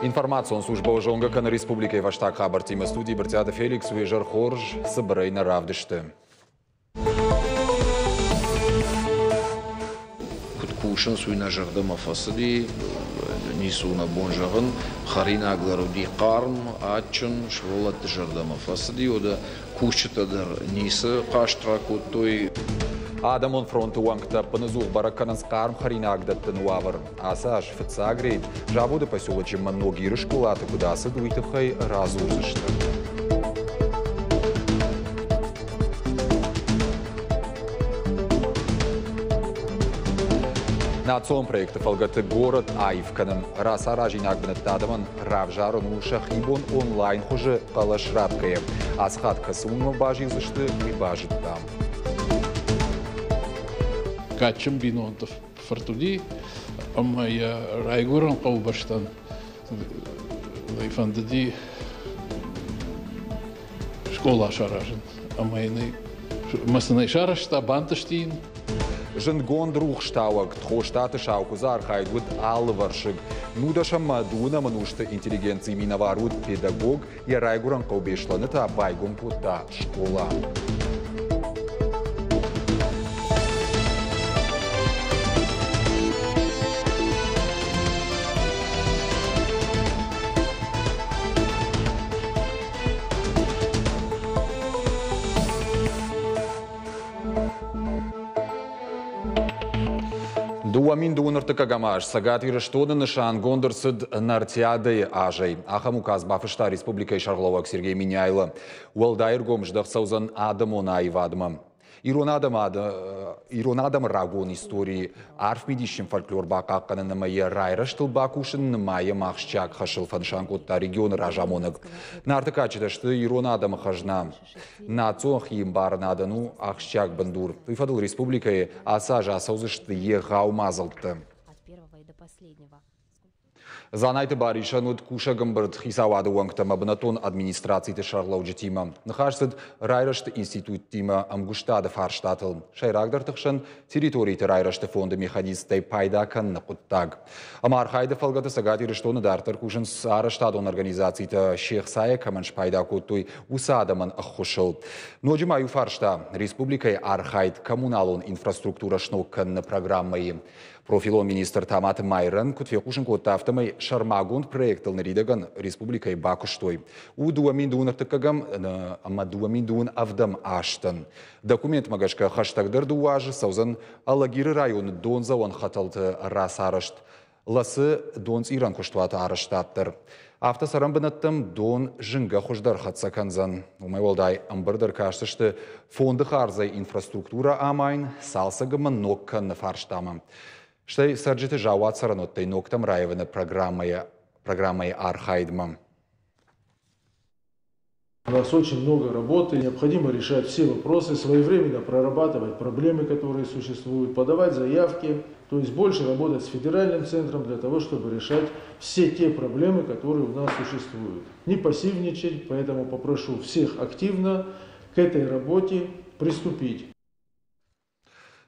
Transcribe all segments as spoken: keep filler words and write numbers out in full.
Информацион службӕ зонгӕ кӕны республикӕйы фӕстаг хабӕрттимӕ. Студийы Брытъиаты Феликс. Уе зӕр хорз, цыбырӕй нӕ равдысты. Куыд кусынц, уый нӕ зӕрдӕмӕ фӕцыди, ницы у нӕ бон зӕгъын. Хӕринаг дӕр уыди хъарм, адджын, сывӕллӕтты зӕрдӕмӕ фӕцыди, уӕдӕ кусджытӕ дӕр ницы хъаст ракодтой. Адӕмон фронты уӕнгтӕ ӕппынӕдзух бӕрӕг кӕнынц хъарм хӕринаг дӕттыны уавӕр. Ацы аз фыццаг рейд Заводы поселочы Ногиры скъолаты куыд ацыд, уый тыххӕй радзурдзысты. Национ проекты фӕлгӕты город аив кӕнын. Рацаразинаг бынӕттӕ адӕмӕн равзарын у сӕхи бон онлайн хуызы хъӕлӕс ратгӕйӕ. Ацы хатт кӕцы уынгмӕ базилдзысты, уый базыдтам. Кадджын бинонты фырт уыди, ӕмӕ йӕ райгуырӕн хъӕубӕстӕн фӕндыди скъола саразын. Ӕмӕ йын ӕмӕ сын ӕй сарӕзта, бантысти йын. Зындгонд рухстауӕг Тхостаты Саукуыдзы архайд уыд алывӕрсыг. Нудӕсӕм ӕмӕ дыууынӕм ӕнусты интеллигенцийы минӕвар уыд педагог, йӕ райгуырӕн хъӕу Беслӕны та байгом кодта скъола. Дыууӕ мин дыууын ӕртыккӕгӕм аз Цӕгат Ирыстоны нысангонд ӕрцыд Нартиадӕйы азӕй. Ахӕм указ бафыста республикӕйы сӕргълӕууӕг Сергей Меняйло. Уӕлдай ӕргом здӕхт цӕудзӕн адӕмон аивадмӕ. Ирон адӕмы, ирон адӕмы рагон историйы арф мидисджын фольклор бахъахъхъӕнын ӕмӕ йӕ райрӕзтыл бакусын нымайӕм ахсджиаг хӕсыл, фӕнысан кодта регионы разамонӕг. Нарты кадджытӕ сты ирон адӕмы хӕзна. Национ хиӕмбарынадӕн у ахсджиаг бындур. Уый фӕдыл республикӕйы ацы аз ацӕудзысты егъау мадзӕлттӕ. Дзанайты Барисӕн уыд кусӕг ӕмбырд хицауады уӕнгтӕ ӕмӕ бынӕттон администрациты сӕргълӕуджытимӕ. Ныхас цыд райрӕзты институттимӕ ӕмгуыстады фарстатыл. Сӕйрагдӕрты хсӕн территориты райрӕзты фонды механизмтӕй пайда кӕныны хъуыддаг. Ӕмӕ архайды фӕлгӕты Цӕгат Ирыстоны дарддӕр кусынц арӕзтадон организацитӕ се хцайӕ кӕмӕн спайда кодтой, уыцы адӕмӕн ӕххуысыл. Ноджы ма иу фарста – республикӕйы архайд коммуналон инфраструктурӕ сног кӕныны программӕйы. Профилон министр Таматы Майрӕн куыд фехъусын кодта, афтӕмӕй сӕрмагонд проектыл ныридӕгӕн республикӕйы бакуыстой. У дыууӕ мин дыууын ӕртыккӕгӕм ӕмӕ дыууӕ мин дыууын ӕвдӕм азтӕн. Документмӕ гӕсгӕ хӕстӕгдӕр дыууӕ азы цӕудзӕн Алагиры районы дондзӕуӕн хӕтӕлты рацарӕзт, Лӕцы донцъирӕн куыстуаты арӕзтад дӕр. Афтӕ цӕрӕн бынӕттӕм дон зынгӕ хуыздӕр хӕццӕ кӕндзӕн. Уымӕй уӕлдай ӕмбырд ӕркастысты фонды хардзӕй инфраструктурӕ амайын, цалцӕг ӕмӕ ног кӕныны фарстамӕ. Стӕй цӕрджыты заууат цӕрӕнуӕттӕй ногтӕм раивыны программӕйы, программӕйы архайдмӕ. У нас очень много работы, необходимо решать все вопросы, своевременно прорабатывать проблемы, которые существуют, подавать заявки, то есть больше работать с федеральным центром для того, чтобы решать все те проблемы, которые у нас существуют. Не пассивничать, поэтому попрошу всех активно к этой работе приступить.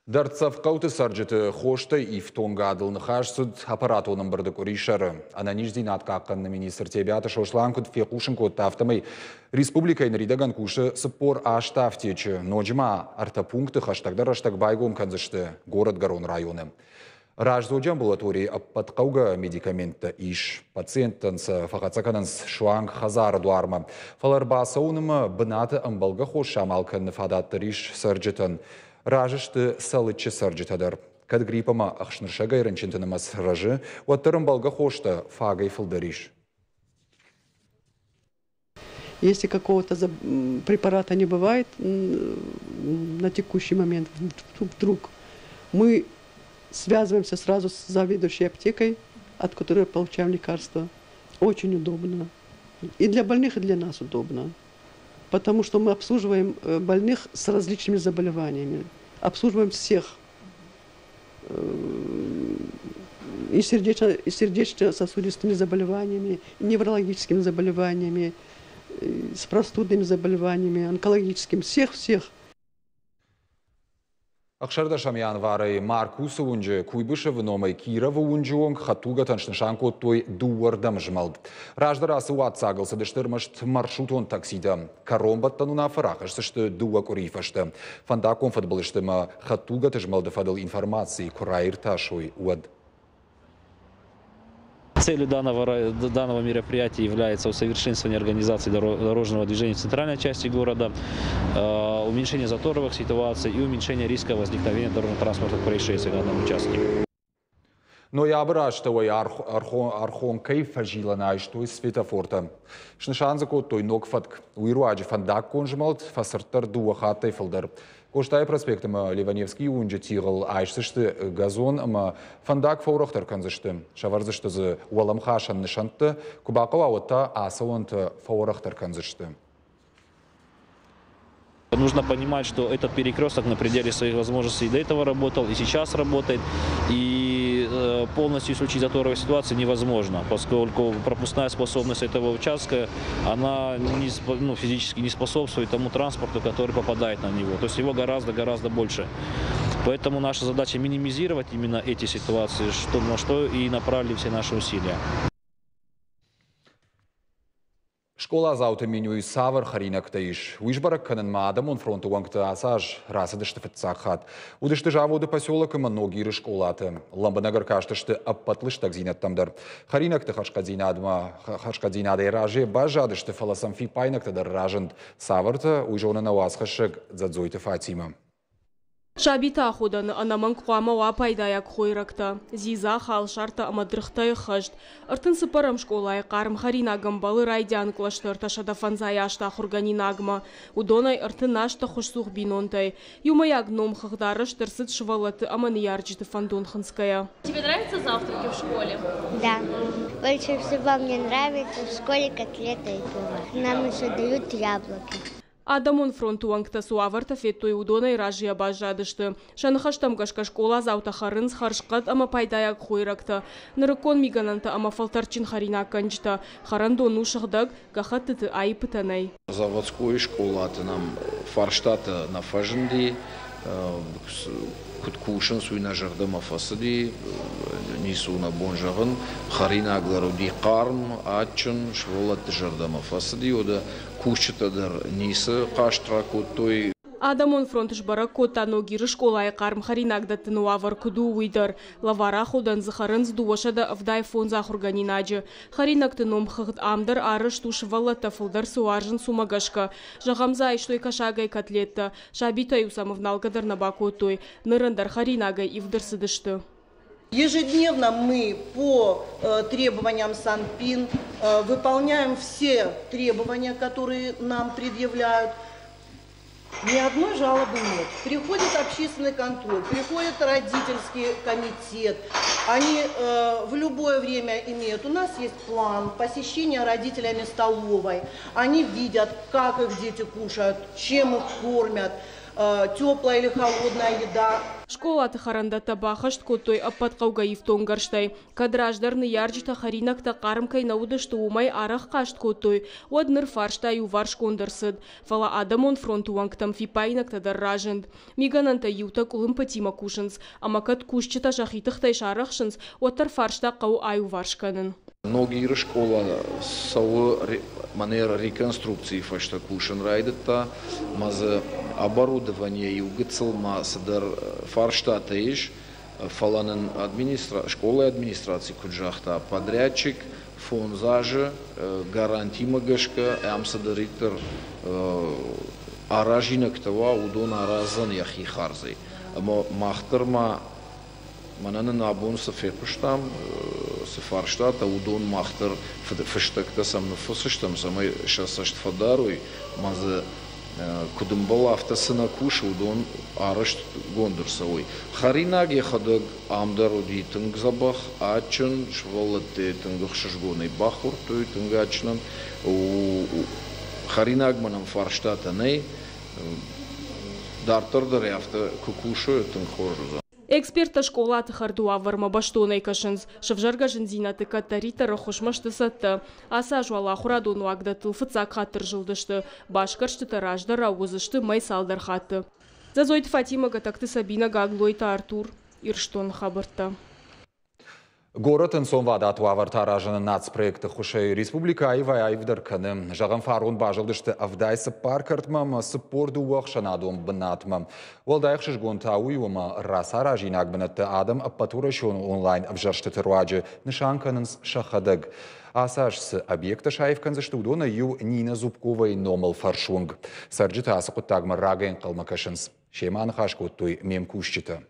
Дӕрддзӕф хъӕуты цӕрджыты хостӕй ифтонгадыл ныхас цыд аппаратон ӕмбырды къуырисӕры. Ӕнӕниздзинад хъахъхъӕныны министр Тебиаты Сослан куыд фехъусын кодта, афтӕмӕй республикӕйы ныридӕгӕн кусы цыппор аст афтечы. Ноджы ма ӕртӕ пункты хӕстӕгдӕр рӕстӕг байгом кӕндзысты Горӕтгӕрон районы. Раздзоджы амбулаторийы ӕппӕт хъӕугӕ медикаменттӕ ис. Пациенттӕн сӕ фӕхӕццӕ кӕнынц суанг хӕдзары дуармӕ. Фӕлӕ ӕрбацӕуынмӕ бынаты ӕмбӕлгӕ хос самал кӕныны фадат дӕр ис цӕрджытӕн. Разы сты Цӕлыччы цӕрджытӕ дӕр. Кӕд грипп ӕмӕ ӕхснырсӕгӕй рынчынты нымӕц рӕзы, уӕддӕр ӕмбӕлгӕ хостӕ фагӕй фылдӕр ис. Если какого-то препарата не бывает на текущий момент, вдруг мы связываемся сразу с заведующей аптекой, от которой получаем лекарства. Очень удобно. И для больных, и для нас удобно. Потому что мы обслуживаем больных с различными заболеваниями. Обслуживаем всех. И сердечно, и сердечно-сосудистыми заболеваниями, и неврологическими заболеваниями, и с простудными заболеваниями, онкологическими. Всех-всех. Ӕхсӕрдӕсӕм январӕй Маркусы уынджы Куйбышевы номӕй Кировы уынджы онг хӕдтулгӕтӕн снысан кодтой дыууӕрдӕм змӕлд. Раздӕр ацы уадздзагыл цыдысты ӕрмӕст маршрутон такситӕ. Кӕронбӕттӕн уынаффӕ рахӕсдзысты дыууӕ къуырийы фӕстӕ. Фӕндаггон фыдбылызты ӕмӕ хӕдтулгӕты змӕлды фӕдыл информаци куы раиртасой, уӕд. Целью данного, данного мероприятия является усовершенствование организации дорожного движения в центральной части города, уменьшение заторовых ситуаций и уменьшение риска возникновения дорожно-транспортных происшествий на данном участке. Ноябры астӕуӕй Архонкӕйы фӕзилӕны айстой светофортӕ. Снысан дзы кодтой ног фӕтк. Уый руаджы фӕндаггон змӕлд фӕцырддӕр дыууӕ хаттӕй фылдӕр. Къостайы проспект ӕмӕ Леваневскийы уынджы тигъыл айсдзысты газон ӕмӕ фӕндаг фӕуӕрӕхдӕр кӕндзысты. Сӕвӕрдзысты дзы уӕлӕмхасӕн нысӕнттӕ, куы бахъӕуа, уӕд та ацӕуӕнтӕ фӕуӕрӕхдӕр кӕндзысты. Нужно понимать, что этот перекресток на пределе своих возможностей до этого работал и сейчас работает. И полностью исключить заторовые ситуации невозможно, поскольку пропускная способность этого участка, она не, ну, физически не способствует тому транспорту, который попадает на него. То есть его гораздо-гораздо больше. Поэтому наша задача минимизировать именно эти ситуации, что, на что и направили все наши усилия. Скъоладзауты менюйы цавӕр хӕринӕгтӕ ис, уый сбӕрӕг кӕнынмӕ адӕмон фронты уӕнгтӕ ацы аз рацыдысты фыццаг хатт. Уыдысты заводы поселок ӕмӕ Ногиры скъолаты. Лӕмбынӕг ӕркастысты ӕппӕт лыстӕгдзинӕдтӕм дӕр. Хӕринӕгты хӕрзхъӕддзинадӕй разыйӕ баззадысты, фӕлӕ сӕм фиппаинӕгтӕ дӕр разынд. Цавӕртӕ, уый зоны нӕ уацхӕссӕг Дзӕдзойты Фатимӕ. Сабиты аходӕны ӕнӕмӕнг хъуамӕ уа пайдайаг хойрӕгтӕ, дзидза, халсартӕ ӕмӕ дыргътӕй ӕххӕст. Ӕртын цыппӕрӕм скъолайы хъарм хӕринаг ӕмбӕлы райдиан кълӕсты ӕртӕсӕдӕ фӕндзай аст ахуыргӕнинагмӕ. Уыдонӕй ӕртын аст ӕххуысцух бинонтӕй. Иумӕйаг номхыгъд арӕзт ӕрцыд сывӕллӕтты ӕмӕ ныййарджыты фӕндон хынцгӕйӕ. Тебе нравятся завтраки в школе? Да. Больше всего мне нравится в школе котлеты и пиво. Нам еще дают яблоки. Адӕмон фронты уӕнгтӕ цы уавӕртӕ федтой, уыдонӕй разыйӕ баззадысты. Сӕ ныхӕстӕм гӕсгӕ скъоладзаутӕ хӕрынц хӕрзхъӕд ӕмӕ пайдайаг хойрӕгтӕ, нырыккон мигӕнӕнтӕ ӕмӕ фӕлтӕрдджын хӕринаггӕнджытӕ. Хӕрӕндон у сыгъдӕг, гӕххӕттыты аиппытӕ нӕй. Заводской скъолаты нӕм фарстатӕ нӕ фӕзынди, куыд кусынц, уый нӕ зӕрдӕмӕ фӕцыди, ницы у нӕ бон зӕгъын. Хӕринаг дӕр уыди хъарм, адджын, сывӕллӕтты зӕрдӕмӕ фӕцыди, уӕдӕ кусджытӕ дӕр ницы хъаст ракодтой. Адӕмон фронт сбӕрӕг кодта Ногиры скъолайы хъарм хӕринаг дӕттыны уавӕр куыд у, уый дӕр. Лӕвар аходӕн дзы хӕрынц дыууӕсӕдӕ ӕвдай фондз ахуыргӕнинаджы. Хӕринӕгты номхыгъд ам дӕр арӕзт у сывӕллӕттӕ фылдӕр цы уарзынц, уымӕ гӕсгӕ. Зӕгъӕм дзы айстой кӕсагӕй котлеттӕ. Сабитӕ-иу сӕм ӕвналгӕ дӕр нӕ бакодтой. Ныр ӕндӕр хӕринагӕй ивд ӕрцыдысты. Ежедневно мы по требованиям Санпин выполняем все требования, которые нам предъявляют. Ни одной жалобы нет. Приходит общественный контроль, приходит родительский комитет. Они э, в любое время имеют. У нас есть план посещения родителями столовой. Они видят, как их дети кушают, чем их кормят, э, теплая или холодная еда. Скъолаты хӕрӕндӕттӕ баххӕст кодтой ӕппӕт хъӕугӕ ифтонггӕрзтӕй. Кӕд раздӕр ныййарджытӕ хӕринӕгтӕ хъарм кӕй нӕ уыдысты, уымӕй арӕх хъаст кодтой, уӕд ныр фарста иуварсгонд ӕрцыд. Фӕлӕ адӕмон фронты уӕнгтӕм фиппаинӕгтӕ дӕр разынд. Мигӕнӕнтӕ иутӕ къуылымпытимӕ кусынц, ӕмӕ кӕд кусджытӕ сӕхи тыхтӕй сарӕхсынц, уӕддӕр фарста хъӕуы аиуварс кӕнын. Ногиры скъола цӕуы мӕнӕ реконструкцийы фӕстӕ кусын райдыдта, ӕмӕ дзы оборудование иу гыццыл ма цыдӕр фарстатӕ ис, фӕлӕ нын скъолайы администраци куыд загъта, подрядчик фондз азы гарантимӕ гӕсгӕ ӕм цыдӕриддӕр аразинӕгтӕ уа, уыдон араздзӕн йӕхи хардзӕй. Ӕмӕ мах дӕр ма мӕнӕ нын абон цы фехъуыстам, цы фарстатӕ, уыдон мах дӕр фыстӕгтӕ сӕм ныффысдзыстӕм, цӕмӕй сӕ цӕст фӕдарой, ӕмӕ дзы куыд ӕмбӕлы, афтӕ цы нӕ кусы, уыдон арӕзтгонд ӕрцӕуой. Хӕринаг йӕхӕдӕг ам дӕр уыди тынг дзӕбӕх, адджын, сывӕллӕттӕ тынг ӕхсызгонӕй бахордтой, тынг адджынӕн. Хӕринагмӕ нӕм фарстатӕ нӕй, дарддӕр дӕр афтӕ куы кусой, тынг хорз уыдзӕн. Эксперттӕ скъолаты хӕрды уавӕрмӕ бӕстонӕй кӕсынц. Сӕвзӕргӕ зындзинӕдты кӕддӕриддӕр ӕххуысмӕ сты цӕттӕ. Ацы аз уал ахуырадон уагдӕттыл фыццаг хатт ӕрзылдысты. Басгӕрстытӕ раздӕрау уыдзысты мӕй цалдӕр хатты. Дзӕдзойты Фатимӕ, Гӕтӕгты Сабинӕ, Гаглойты Артур. Ирыстоны хабӕрттӕ. Горӕты ӕнцонвадат уавӕртӕ аразыны нацпроекты ӕххуысӕй республикӕ аивӕй-аивдӕр кӕны. Зӕгъӕм, фарон базылдысты ӕвдай цыппар кӕртмӕ ӕмӕ цыппор дыууӕ ӕхсӕнадон бынатмӕ. Уӕлдай ӕхсызгон та уый у, ӕмӕ рацаразинаг бынӕтты адӕм ӕппӕтуӕрӕсеон онлайн ӕвзӕрстыты руаджы нысан кӕнынц сӕхӕдӕг. Ацы аз цы объекттӕ саив кӕндзысты, уыдонӕй иу Нина Зубковайы номыл фӕрсуынг. Цӕрджытӕ ацы хъуыддагмӕ рагӕй ӕнхъӕлмӕ кӕсынц. Семӕ ныхас кодтой ме мкусджытӕ.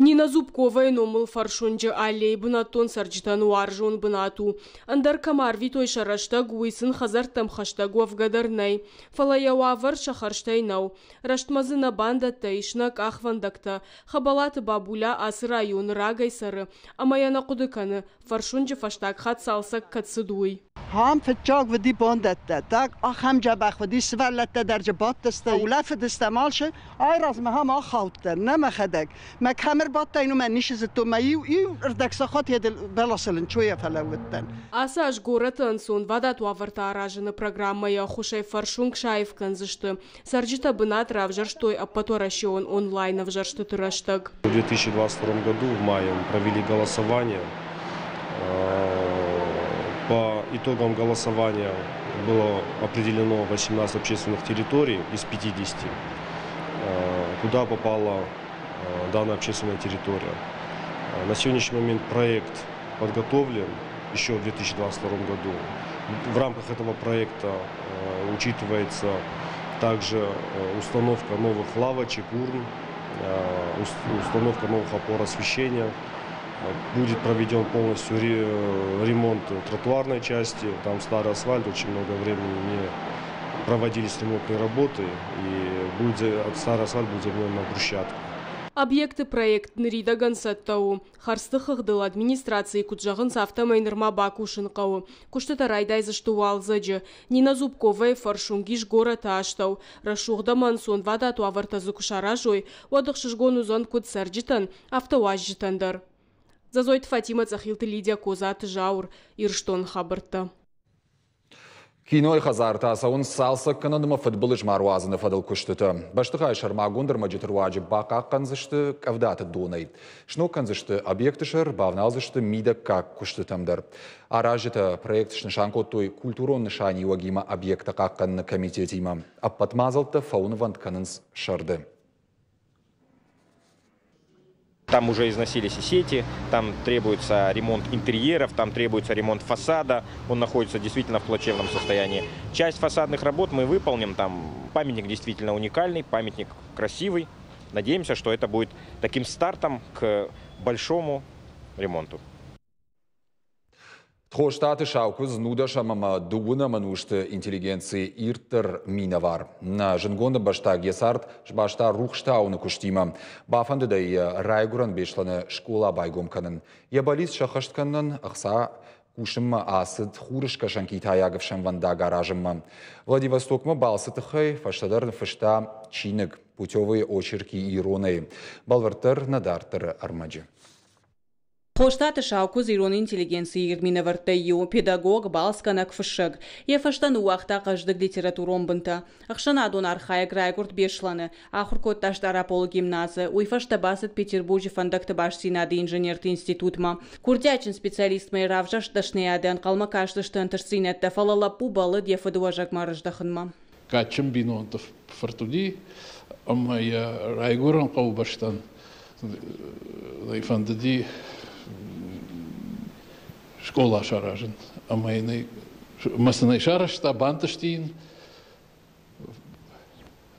Нина Зубковайы номыл фӕрсуынджы аллейы бынӕттон цӕрджытӕн уарзон бынат у. Ӕндӕр кӕм арвитой сӕ рӕстӕг, уый сын хӕдзӕрттӕм хӕстӕг уӕвгӕ дӕр нӕй. Фӕлӕ йӕ уавӕр сӕ хӕрзтӕй нӕу. Рӕстмӕ дзы нӕ бандӕттӕ ис, нӕ къахвӕндӕгтӕ. Хӕбӕлаты Бабуля ацы районы рагӕй цӕры ӕмӕ йӕ нӕ хъуыды кӕны, фӕрсуынджы фӕстаг хатт цалцӕг кӕд цыд, уый. Ам фыццаг уыди бандӕттӕ, так ахӕм дзӕбӕх уыди, сывӕллӕттӕ дӕр дзы бадтысты, улӕфыдыстӕм алцы. Айразмӕ ам ахаудтӕн, нӕ мӕхӕдӕг. Мӕ кӕм ӕрбадтӕн, уымӕн ницы зыдтон, мӕ иу иу ӕрдӕг сахат йӕ бӕласыл ӕнцойӕ фӕлӕууыдтӕн. Ацы аз горӕты ӕнцонвадат уавӕртӕ аразыны программӕйы ӕххуысӕй фӕрсуынг саив кӕндзысты. Цӕрджытӕ бынат равзӕрстой ӕппӕтуӕрӕсеон онлайн ӕвзӕрстыты рӕстӕг. В две тысячи двадцать втором году в мае мы провели голосование. По итогам голосования было определено восемнадцать общественных территорий из пятидесяти, куда попала данная общественная территория. На сегодняшний момент проект подготовлен еще в две тысячи двадцать втором году. В рамках этого проекта учитывается также установка новых лавочек, урн, установка новых опор освещения. Будет проведен полностью ремонт тротуарной части. Там старый асфальт, очень много времени не проводились ремонтные работы, и будет за-, старый асфальт будет заменен на брусчатку. Объекты проект ныридӕгӕн цӕттӕ у. Хӕрдзты хыгъдыл администрацийы куыд зӕгъынц, афтӕмӕй нырма бакусын хъӕуы. Куыстытӕ райдайдзысты уалдзӕджы. Нина Зубковайы фӕрсуынг ис горӕты астӕу. Рӕсугъд ӕмӕ ӕнцонвадат уавӕртӕ дзы куы саразой, уӕд ӕхсызгон уыдзӕн куыд цӕрджытӕн, афтӕ уазджытӕн дӕр. Дзӕдзойты Фатимӕ, Цъӕхилты Лидия, Козаты Зауыр, Ирыстоны хабӕрттӕ. Кинойы хӕдзар та цӕуынц цалцӕг кӕнын ӕмӕ фыдбылыз ма руадзыны фӕдыл куыстытӕ. Бӕстыхайы сӕрмагонд ӕрмӕджыты руаджы бахъахъхъӕндзысты къӕвдаты донӕй. Сног кӕндзысты объекты сӕр, бавналдзысты мидӕггаг куыстытӕм дӕр. Аразджытӕ проект снысан кодтой культурон нысаниуӕгимӕ объекттӕ хъахъхъӕныны комитетимӕ. Ӕппӕт мадзӕлттӕ фӕуынвӕнд кӕнынц сӕрды. Там уже износились и сети, там требуется ремонт интерьеров, там требуется ремонт фасада, он находится действительно в плачевном состоянии. Часть фасадных работ мы выполним, там памятник действительно уникальный, памятник красивый. Надеемся, что это будет таким стартом к большому ремонту. Тхостаты Саукуыдз нудӕсӕм ӕмӕ дыууынӕм ӕнусты интеллигенцийы ирддӕр минӕвар. Нӕ зындгонд ӕмбӕстаг йӕ цард сбаста рухстауыны куыстимӕ. Бафӕндыд ӕй йӕ райгуырӕн Беслӕны скъола байгом кӕнын. Йӕ бӕллиц сӕххӕст кӕнынӕн ӕхца кусынмӕ ацыд хурыскӕсӕн китайаг ӕфсӕнвӕндаг аразынмӕ. Владивостокмӕ балцы тыххӕй фӕстӕдӕр ныффыста чиныг «Путевые очерки иронӕй». Бӕлвырддӕр нӕ дарддӕры ӕрмӕджы. Тхостаты Саукуыдз ирон интеллигенцийы ирд минӕвӕрттӕй иу, педагог, балцгӕнӕг, фыссӕг. Йӕ фӕстӕ ныууагъта хъӕздыг литературон бынтӕ. Ӕхсӕнадон архайӕг райгуырд Беслӕны. Ахуыр кодта Стъараполы гимназы. Уый фӕстӕ бацыд Петербурджы фӕндӕгты бастдзинады инженерты институтмӕ. Курдиатджын специалистмӕ йӕ равзӕрст дӕсныйады ӕнхъӕлмӕ кастысты ӕнтыстдзинӕдтӕ, фӕлӕ лӕппу бӕллыд йӕ фыдыуӕзӕгмӕ ӕрыздӕхынмӕ. Кадджын бинонты фырт уыди, ӕмӕ йӕ райгуырӕн хъӕубӕстӕн фӕндыди скъола саразын. Ӕмӕ йын ӕй, ӕмӕ сын ӕй сарӕзта, бантысти йын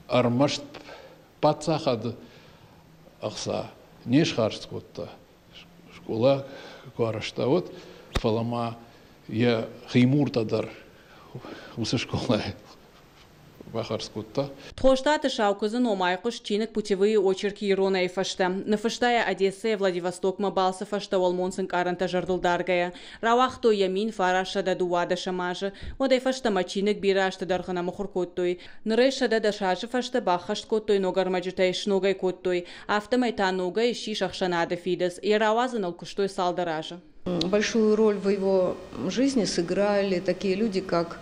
ӕрмӕст паддзахады ӕхца не схардз кодта. Скъола куы арӕзта, уӕд, фӕлӕ ма йӕ химуртӕ дӕр уыцы скъолайы бахардз кодта. Тхостаты Саукуыдзы ном айхъуыст чиныг «Путевые очерки иронӕй» фӕстӕ. Ныффыста йӕ Одессӕйӕ Владивостокмӕ балцы фӕстӕ уӕлмонц ӕнкъарӕнтӕ зӕрдыл даргӕйӕ. Рауагътой йӕ мин фарастсӕдӕ дыууадӕсӕм азы. Уӕдӕй фӕстӕмӕ чиныг бирӕ азты дӕргъы нӕ мыхуыр кодтой. Ныр ӕй сӕдӕ дӕс азы фӕстӕ баххӕст кодтой ног ӕрмӕджытӕй, сног ӕй кодтой. Афтӕмӕй та ногӕй ссис ӕхсӕнады фидыц. Йӕ рауадзыныл куыстой цалдӕр азы. Большую роль в его жизни сыграли такие люди, как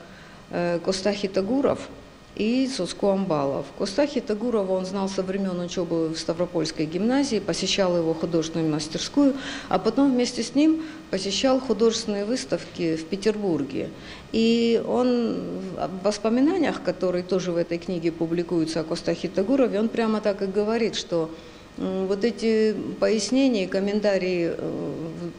Коста Хетагуров, и Цоцко Амбалов. Коста Хетагурова он знал со времен учебы в Ставропольской гимназии, посещал его художественную мастерскую, а потом вместе с ним посещал художественные выставки в Петербурге. И он в воспоминаниях, которые тоже в этой книге публикуются о Коста Хетагурове, он прямо так и говорит, что вот эти пояснения, комментарии,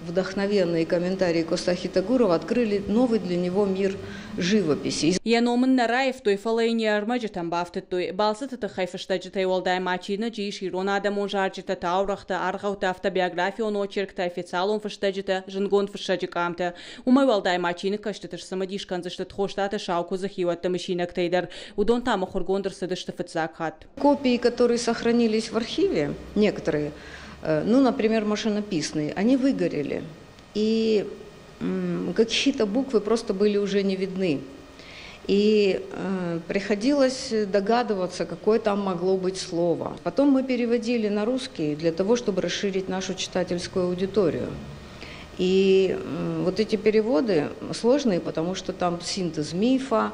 вдохновенные комментарии Коста Хетагурова открыли новый для него мир живописи. Йӕ ном ын нӕ раивтой, фӕлӕ йын йӕ ӕрмӕджытӕм бафтыдтой. Балцыты тыххӕй фыстӕджытӕй уӕлдай ма чиныджы ис ирон адӕмон зарджытӕ, таурӕгътӕ, аргъӕуттӕ, автобиографион очерктӕ, официалон фыстӕджытӕ, зындгонд фыссӕджы къамтӕ. Уымӕй уӕлдай ма чиныгкӕсджыты сцымыдис кӕндзысты Тхостаты Саукуыдзы хиуӕтты мысинӕгтӕй дӕр. Уыдон та мыхуыргонд ӕрцыдысты фыццаг хатт. Копии, которые сохранились в архиве, некоторые, ну, например, машинописные, они выгорели. И какие-то буквы просто были уже не видны. И э, приходилось догадываться, какое там могло быть слово. Потом мы переводили на русский для того, чтобы расширить нашу читательскую аудиторию. И э, вот эти переводы сложные, потому что там синтез мифа,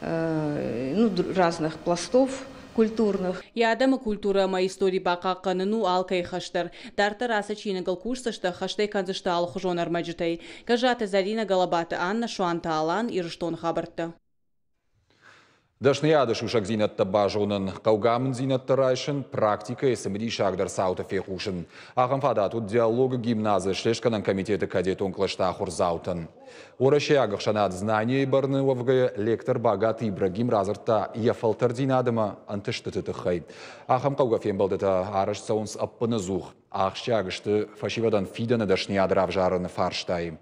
э, ну, разных пластов культурных. Йӕ адӕмы культурӕ ӕмӕ истори бахъахъхъӕнын у алкӕй хӕс дӕр. Дарддӕр ацы чиныгыл кусдзысты, ӕххӕст ӕй кӕндзысты алыхуызон ӕрмӕджытӕй. Гӕззаты Зӕринӕ, Гӕлӕбаты Аннӕ, Суанты Алан, Ирыстоны хабӕрттӕ. Дӕсныйады сусӕгдзинӕдтӕ базонын, хъӕугӕ амынддзинӕдтӕ райсын, практикӕйы цымыдисагдӕр цаутӕ фехъусын. Ахӕм фадат уыд Диалогы гимназы слестгӕнӕн комитеты кадетон кълӕсты ахуырдзаутӕн. Уӕрӕсейаг ӕхсӕнад Знание-йы бӕрны уӕвгӕйӕ лектор Багаты Ибрагим радзырдта йӕ фӕлтӕрддзинад ӕмӕ ӕнтыстыты тыххӕй. Ахӕм хъӕугӕ фембӕлдытӕ арӕзт цӕуынц ӕппынӕдзух. Ахсджиаг сты фӕсивӕдӕн фидӕны дӕсныйад равзарыны фарстайы.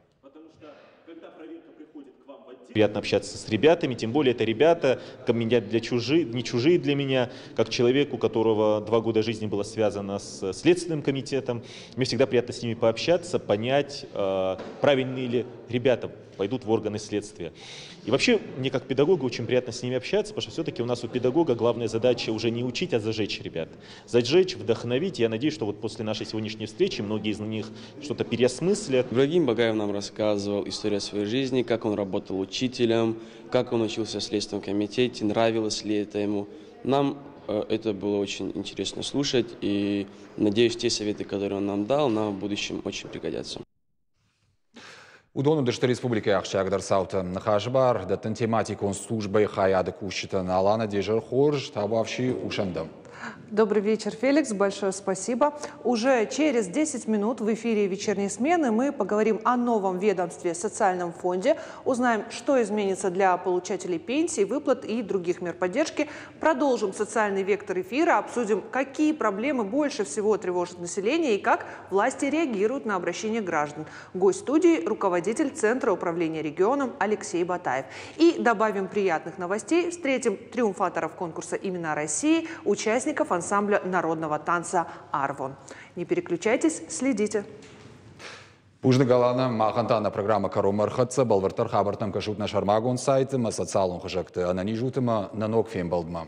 Приятно общаться с ребятами, тем более это ребята, меня для чужие, не чужие для меня, как человек, у которого два года жизни было связано с Следственным комитетом. Мне всегда приятно с ними пообщаться, понять, правильные ли ребята пойдут в органы следствия. И вообще, мне как педагогу очень приятно с ними общаться, потому что все-таки у нас у педагога главная задача уже не учить, а зажечь ребят. Зажечь, вдохновить. Я надеюсь, что вот после нашей сегодняшней встречи многие из них что-то переосмыслят. Ибрагим Багаев нам рассказывал историю своей жизни, как он работал учителем, как он учился в Следственном комитете, нравилось ли это ему. Нам это было очень интересно слушать, и надеюсь, те советы, которые он нам дал, нам в будущем очень пригодятся. Уыдон уыдысты республикӕйы ахсджиагдӕр цаутӕ. Ныхасы бар дӕттын тематикон службӕйы хайады кусджытӕн. Алана, де изӕр хорз, табуафси, хъусӕм дӕм. Добрый вечер, Феликс. Большое спасибо. Уже через десять минут в эфире вечерней смены мы поговорим о новом ведомстве социальном фонде, узнаем, что изменится для получателей пенсий, выплат и других мер поддержки. Продолжим социальный вектор эфира, обсудим, какие проблемы больше всего тревожат население и как власти реагируют на обращение граждан. Гость студии – руководитель Центра управления регионом Алексей Батаев. И добавим приятных новостей, встретим триумфаторов конкурса «Имена России», участников ансамбля народного танца «Арвон». Не переключайтесь, следите. Бузныг, Алана, махӕн та нӕ программӕ кӕронмӕ ӕрхӕццӕ, бӕлвырддӕр хабӕрттӕм кӕсут нӕ сӕрмагонд сайты ӕмӕ социалон хызӕгты. Ӕнӕниз ут ӕмӕ нӕ ног фембӕлдмӕ.